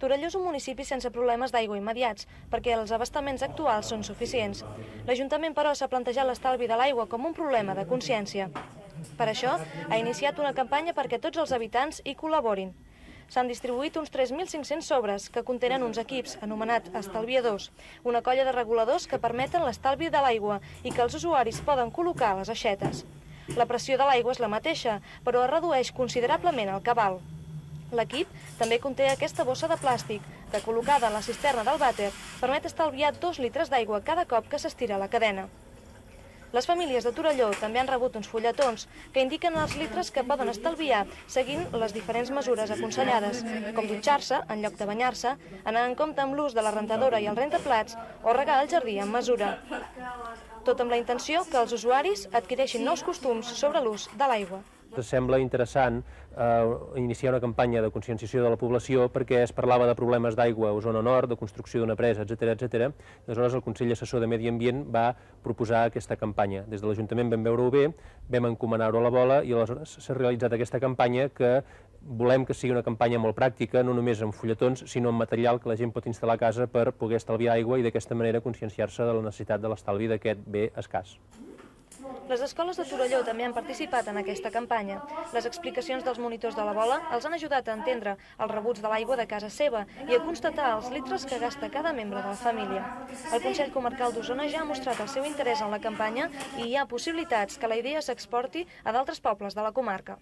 Torelló és un municipi sense problemes d'aigua immediats, perquè els abastaments actuals són suficients. L'Ajuntament, però, s'ha plantejat l'estalvi de l'aigua com un problema de consciència. Per això, ha iniciat una campanya perquè tots els habitants hi col·laborin. S'han distribuït uns 3.500 sobres que contenen uns equips anomenats estalviadors, una colla de reguladors que permeten l'estalvi de l'aigua i que els usuaris poden col·locar a les aixetes. La pressió de l'aigua és la mateixa, però es redueix considerablement el cabal. L'equip també conté aquesta bossa de plàstic que, col·locada en la cisterna del vàter, permet estalviar 2 litres d'aigua cada cop que s'estira la cadena. Les famílies de Torelló també han rebut uns fulletons que indiquen els litres que poden estalviar seguint les diferents mesures aconsellades, com dutxar-se en lloc de banyar-se, anar en compte amb l'ús de la rentadora i el rentaplats o regar el jardí amb mesura. Tot amb la intenció que els usuaris adquireixin nous costums sobre l'ús de l'aigua. Ens sembla interessant iniciar una campanya de conscienciació de la població perquè es parlava de problemes d'aigua a Osona Nord, de construcció d'una presa, etc. Aleshores, el Consell Assessor de Medi Ambient va proposar aquesta campanya. Des de l'Ajuntament vam veure-ho bé, vam encomanar-ho a la bola i aleshores s'ha realitzat aquesta campanya que volem que sigui una campanya molt pràctica, no només amb fulletons, sinó amb material que la gent pot instal·lar a casa per poder estalviar aigua i d'aquesta manera conscienciar-se de la necessitat de l'estalvi d'aquest bé escàs. Les escoles de Torelló també han participat en aquesta campanya. Les explicacions dels monitors de la bola els han ajudat a entendre els rebuts de l'aigua de casa seva i a constatar els litres que gasta cada membre de la família. El Consell Comarcal d'Osona ja ha mostrat el seu interès en la campanya i hi ha possibilitats que la idea s'exporti a d'altres pobles de la comarca.